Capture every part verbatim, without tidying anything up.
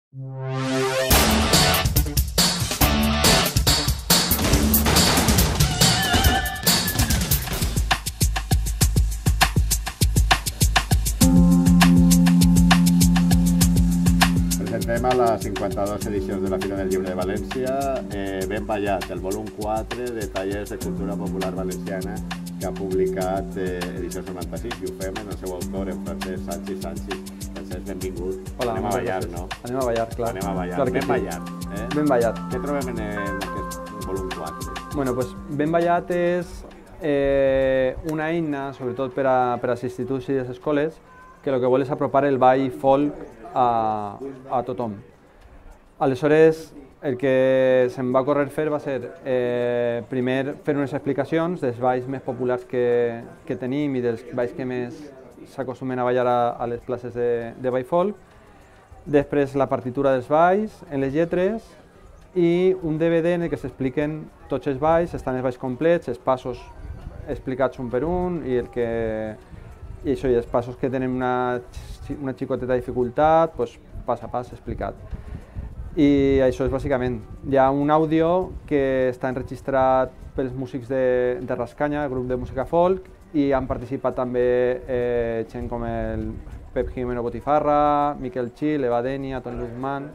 Presentem a les cinquanta-dues edicions de la Fira del Llibre de València eh, Ben Ballat, el volum quatre de Tallers de Cultura Popular Valenciana que ha publicat eh, Edicions noranta-sis i ho fem en el seu autor, en Francesc Sanchis Sanchis. Francesc, benvingut. Hola, anem a ballar, no? Anem a ballar, clar. Anem a ballar. Clar Ben sí. Ballat. Eh? Ben Ballat. Què trobem en, en aquest volum quatre? Bueno, pues, Ben Ballat és eh, una eina, sobretot per a, per als instituts i les escoles, que el que vol és apropar el ball folk a, a tothom. Aleshores, el que se'm va ocórrer fer va ser eh, primer fer unes explicacions dels balls més populars que, que tenim i dels balls que més s'acostumen a ballar a, a les places de, de ball folk, després la partitura dels balls en les lletres i un D V D en el que s'expliquen tots els balls, estan els balls complets, els passos explicats un per un i, el que, i això, i els passos que tenen una, una xicoteta dificultat, doncs, pas a pas explicat. I això és bàsicament. Hi ha un àudio que està enregistrat pels músics de, de Rascanya, el grup de música folk, i han participat també eh, gent com el Pep Jimeno Botifarra, Miquel Gil, Eva Denia, Toni Luzman,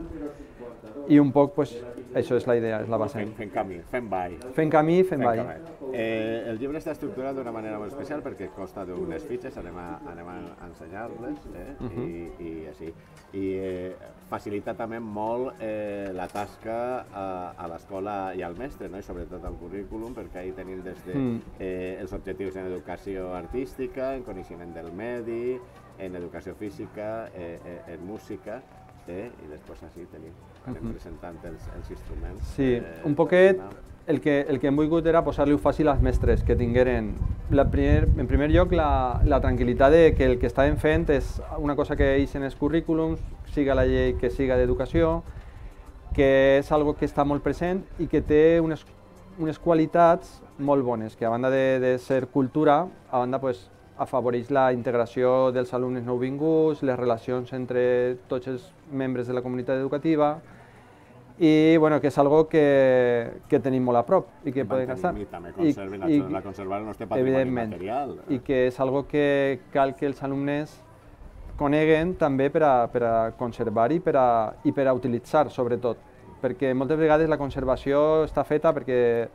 i un poc, pues, això és la idea, és la base. Fent, fent camí, fent ball. Fent camí, fent, fent ball. Eh, el llibre està estructurat d'una manera molt especial perquè consta d'unes fitxes, anem a, anem a ensenyar-les, eh? uh -huh. I, i així. I eh, facilita també molt eh, la tasca a, a l'escola i al mestre, no? I sobretot al currículum, perquè ahí tenim des de mm. eh, els objectius en educació artística, en coneixement del medi, en educació física, eh, eh, en música, eh? I després així tenim, anem uh -huh. presentant els, els instruments. Sí, eh, un poquet el que, el que hem volgut era posar-li-ho fàcil als mestres, que tingueren, la primer, en primer lloc, la, la tranquil·litat de que el que estaven fent és una cosa que ells en els currículums, siga la llei que siga d'educació, que és algo que està molt present i que té unes, unes qualitats molt bones, que a banda de, de ser cultura, a banda pues, afavoreix la integració dels alumnes nouvinguts, les relacions entre tots els membres de la comunitat educativa, i bueno, que és algo que, que tenim molt a prop i que podem gastar. I també conserven, I, la conservar el nostre patrimoni material. I que és algo que cal que els alumnes coneguen també per a, per a conservar i per a, i per a utilitzar, sobretot. Perquè moltes vegades la conservació està feta perquè,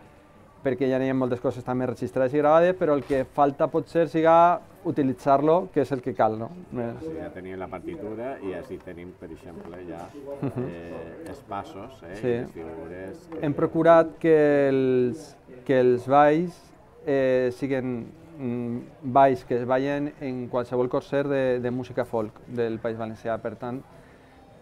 perquè ja hi ha moltes coses també registrades i gravades, però el que falta potser siga utilitzar-lo, que és el que cal, no? Sí, ja tenim la partitura i així tenim, per exemple, ja eh, els passos, eh, sí. I les figures... Hem procurat que els, que els balls eh, siguin mm, balls que es ballen en qualsevol concert de, de música folk del País Valencià. Per tant,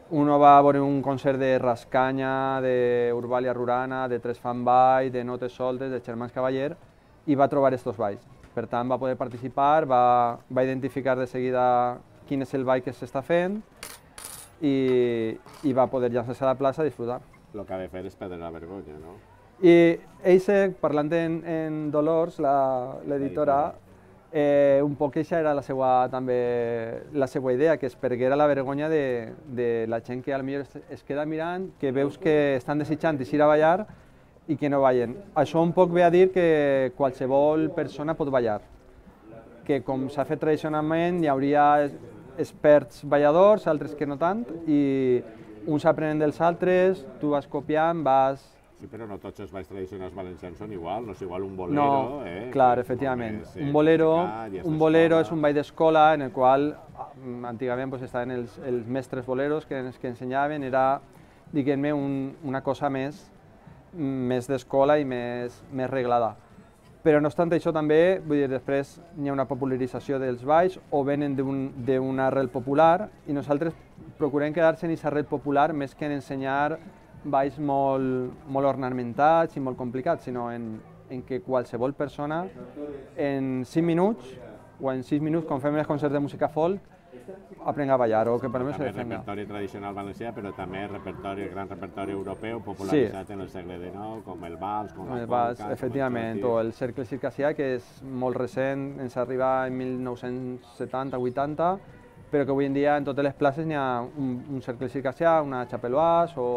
uno va a veure un concert de Rascanya, d'Urbalia Rurana, de Tres Fan Ball, de Notes Soltes, de Germans Cavaller, i va trobar estos balls. Per tant, va poder participar, va, va identificar de seguida quin és el ball que s'està fent i, i va poder llançar-se a la plaça a disfrutar. El que ha de fer és perdre la vergonya, no? I Eisec, parlant en, en Dolors, l'editora, eh, un poc aquesta era la seva, també, la seva idea, que es perguera la vergonya de, de la gent que potser es, es queda mirant, que veus que estan desitjant ir a ballar i que no ballen. Això un poc ve a dir que qualsevol persona pot ballar, que com s'ha fet tradicionalment hi hauria experts balladors, altres que no tant, i uns aprenen dels altres, tu vas copiant, vas... Sí, però no tots els balls tradicionals valencians són igual, no és igual un bolero, no, eh? Clar, efectivament. Un bolero, un bolero és un ball d'escola en el qual antigament pues, estaven els, els mestres boleros que, que ensenyaven, era, diguem-ne, un, una cosa més més d'escola i més, més reglada. Però no obstant això també, vull dir, després hi ha una popularització dels balls o venen d'una arrel popular i nosaltres procurem quedar-se en aquesta arrel popular més que en ensenyar balls molt, molt ornamentats i molt complicats, sinó en, en que qualsevol persona en cinc minuts o en sis minuts, com fem els concerts de música folk, aprenga a ballar o que per mi se defenga. Repertori tradicional valencià, però també repertori, el gran repertori europeu popularitzat sí. En el segle dinou, com el vals, com el la vals, polca... efectivament, o el cercle circassià, que és molt recent, ens arriba en mil nou-cents setanta vuitanta, però que avui en dia en totes les places n'hi ha un, un cercle circassià, una xapeloise o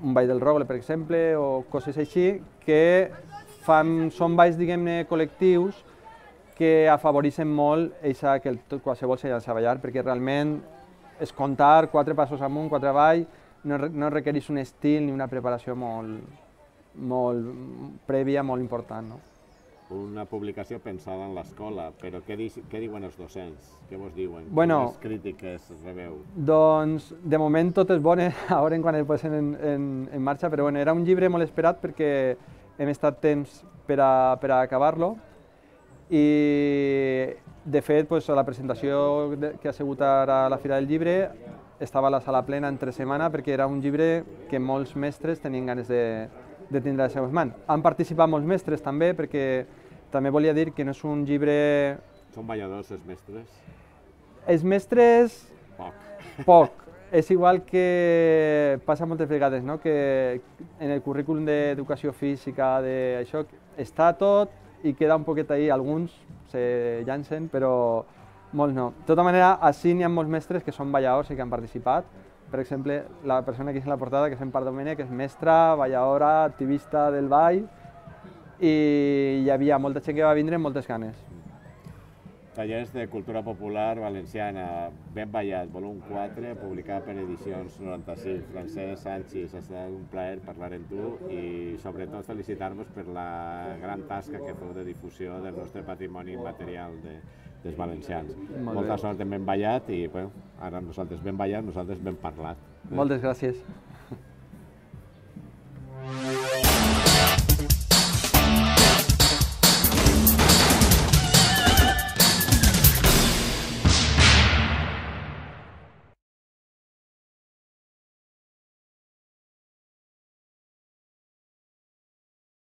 un ball del rogle, per exemple, o coses així, que fan, són balls, diguem-ne, col·lectius que afavoreixen molt eixa, que el, qualsevol se llança a ballar, perquè realment és comptar quatre passos amunt, quatre avall, no, no requereix un estil ni una preparació molt, molt prèvia, molt important. No? Una publicació pensada en l'escola, però què, di què diuen els docents? Què vos diuen? Bueno, quines crítiques rebeu? Doncs, de moment tot és bones, a veure quan el posen en, en, en marxa, però bueno, era un llibre molt esperat perquè hem estat temps per a, per a acabar-lo i, de fet, pues, a la presentació de, que ha sigut ara a la Fira del Llibre estava a la sala plena entre setmana perquè era un llibre que molts mestres tenien ganes de, de tindre a les seves mans. Han participat molts mestres també, perquè també volia dir que no és un llibre... Són balladors els mestres? Els mestres... Poc. Poc. És igual que passa moltes vegades, no? Que en el currículum d'educació física, de això, està tot i queda un poquet ahí, alguns se llancen, però molts no. De tota manera, així n'hi ha molts mestres que són balladors i que han participat. Per exemple, la persona que és en la portada, que és en Part Domènech, que és mestra, balladora, activista del ball, i hi havia molta gent que va vindre amb moltes ganes. Tallers de cultura popular valenciana, Ben ballat, volum quatre, publicat per Edicions noranta-sis. Francesc Sanchis, ha estat un plaer parlar amb tu i sobretot felicitar-vos per la gran tasca que feu de difusió del nostre patrimoni immaterial de, dels valencians. Molt Molta bé. sort en Ben ballat i bueno, ara nosaltres Ben ballat, nosaltres Ben parlat. Moltes gràcies.